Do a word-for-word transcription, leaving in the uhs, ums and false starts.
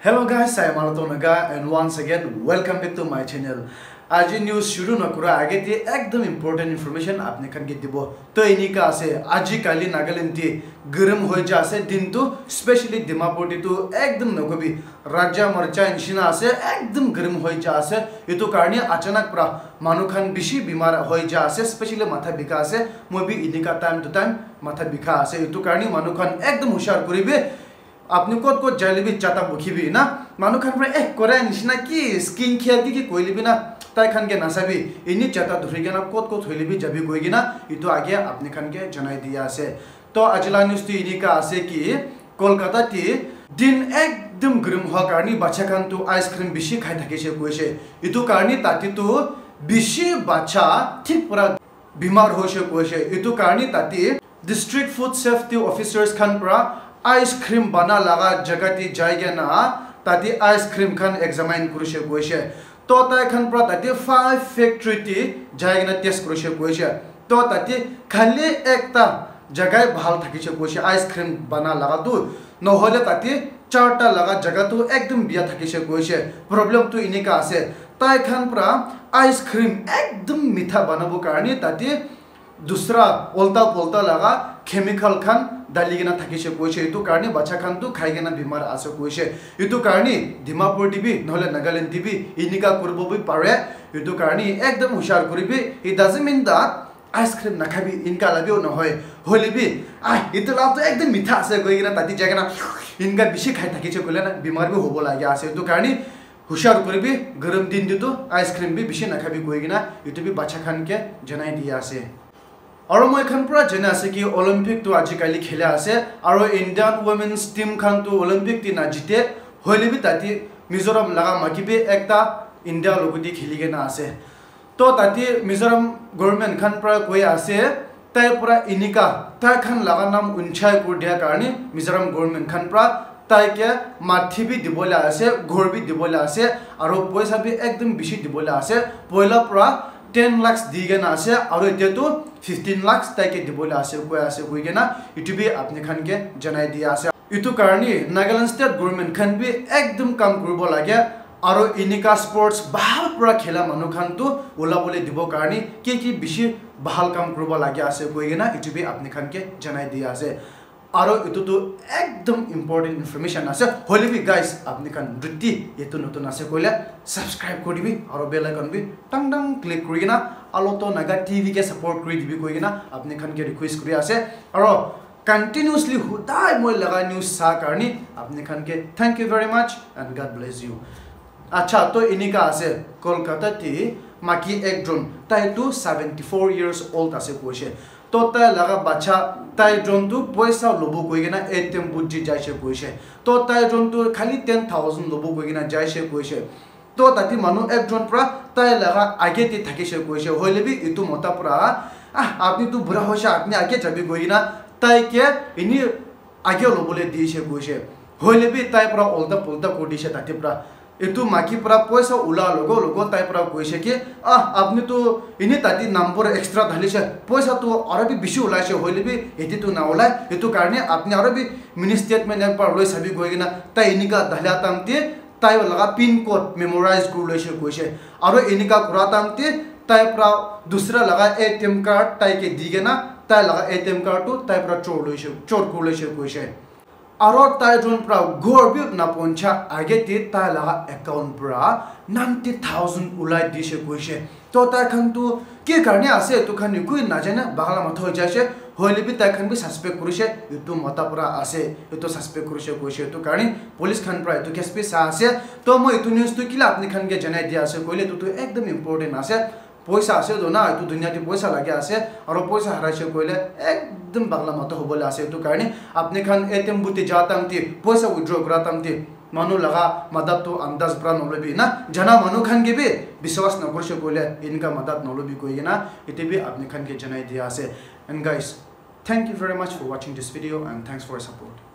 Hello guys, I am Alato Naga and once again welcome back to my channel. Aji news shuru na kura age te ekdam important information apni khan ke dibo. To enika ase, aji kali Nagaland te garam hoi ja ase din tu, specially Dimapur te tu ekdam nakobi, raja marcha nishina ase, ekdam garam hoi ja ase. Itu karne achanak pra manu khan bishi bimar hoi ja ase, specially matha bikha ase. Moi bi enika time to time matha bikha ase. Itu karne manu khan ekdam hushar kuribi. Apni kot kot jaile bi chata bukhibi na, manu khan pra eh kore nishina ki skin care ki ki koile bi na, tai khan ke nasabi, ini chata dhuri kena kot kot hoile bi jabi koi kena itu age apni khan ke janai dia ase. To ajila news tu enika ase ki Kolkata ti din ekdam garam hua karni bacha khan tu ice cream bishi khai thakishe koishe. Itu karni tati tu bishi bacha thik pura bimar hoishe koishe. Itu karni tati District Food Safety Officers khan pra ice cream bana laga jaga ti jai kena tati ice cream khan examine kurishe koishe. To tai khan pra tati five factory ti jai kena test kurishe koishe. To tati khali ekta jagai bhal thakishe koishe ice cream bana laga tu. Nohole tati charta laga jaga tu ekdam biya thakishe koishe. Problem tu enika ase. Tai khan pra ice cream ekdam mitha banabo karni tati dusra olta polta laga chemical khan dali kena thakishe koishe. Itu karni bacha khan tu khai kena bimar ase koishe. Itu karni Dimapur ti bi nohole Nagaland ti bi enika kuribo bi pare. Itu karni ekdam hushar kuribi. It doesn't mean that ice cream nakhabi inka la bi nohoi. Hoile bi, ah, itu la tu ekdam mitha ase koi kena tati jai kena inka bishi khai thakishe koile na bimar bi hobo lagi ase. Itu karni hushar kuribi, garam din te tu ice cream bi bishi nakhabi koi kena itu bi bacha khan ke janai dia ase. Aro moi khan pura jana ase ki Olympic tu ajikali khela ase, aro Indian women's team khan tu Olympic ti na jite, hoile bi tati Mizoram laga maki bi ekta India logo ti kheli kena ase. To tati Mizoram government khan pura koi ase, tai pura enika, tai khan laga nam unchai kur dia karni Mizoram government khan pura tai ke mati bi dibole ase, ghor bi dibole ase, aro poisa bi ekdam bishi dibole ase. Poila pura ten lakhs di kena ase, aro etia tu fifteen lakhs tai ke dibole ase, koi ase, koi kena itu bi apni khan ke janai dia ase. Itu karni Nagaland state government khan bi ekdam kam kuribo lage, aro enika sports bhal pura khela manu khan tu ulabole dibo karni ki ki bishi bhal kam kuribo lage ase, koi kena itu bi apni khan ke janai dia ase. Aro itu tu ekdam important information ase. Hoile bi guys, apni khan jodi itu notun ase koile subscribe kuri dibi aro bell icon bi tang tang click kuri kena Alato Naga T V ke support kuri dibi koi kena apni khan ke request kuri ase. Aro continuously hudai moi laga news sa karni apni khan ke thank you very much and God bless you. Acha, to enika ase, Kolkata ti maki ekjon, tai tu seventy four years old ase koishe. To tai laga bacha, tai jon tu poisa lobo koi kena A T M booth ji jaishe koishe. To tai jon tu khali ten thousand lobo koi kena jaishe koishe. To tati manu ekjon pra tai laga age ti thakishe koishe. Hoile bi itu mota pra, ah, apni tu bura hoishe, apni age jabi koi kena tai ke ini age lobole dishe koishe. Hoile bi tai pra ulta pulta kuri dishe tati pra. Itu maki pra poisa ula logo logo tai pra koishe ki, ah, apni tu ini tati number extra dhalishe, poisa tu aro bi bishi ulaishe, hoile bi eti tu na ulai. Itu karne apni aro bi mini statement ekbar loi sabi koi kena tai enika dhalia time te tai laga pin code memorize kuri loishe koishe. Aro enika kura time te tai pra dusra laga A T M card tai ke di kena tai laga A T M card tu tai pra chor loishe, chor kuri loishe koishe. Aro tai jon pra ghor bi na poncha age te tai laga account pra ninety thousand ulai dishe koishe. To tai khan tu ki karne ase, etu khan ekoi najane, bagala matha hoi jaise. Hoile bi tai khan bi suspect kurise, etu mota para ase, etu suspect kurise koise. Etu karne police khan para etu case bi sa ase. To moi etu news tu kila apni khan ke janai dia ase koile, etu tu ekdam important ase. Poisa ase to na, etu dunia te poisa lage ase, aro poisa haraise koile ekdam bagala matha hobole ase. Etu karne apni khan A T M booth te ja time te, poisa withdraw kura time te, manu laga madad tu andaz para nolobi na, jana manu khan ke bi biswas nakurise koile, enka madad nolobi koi kena, ete bi apni khan ke janai dia ase. And guys, thank you very much for watching this video and thanks for your support.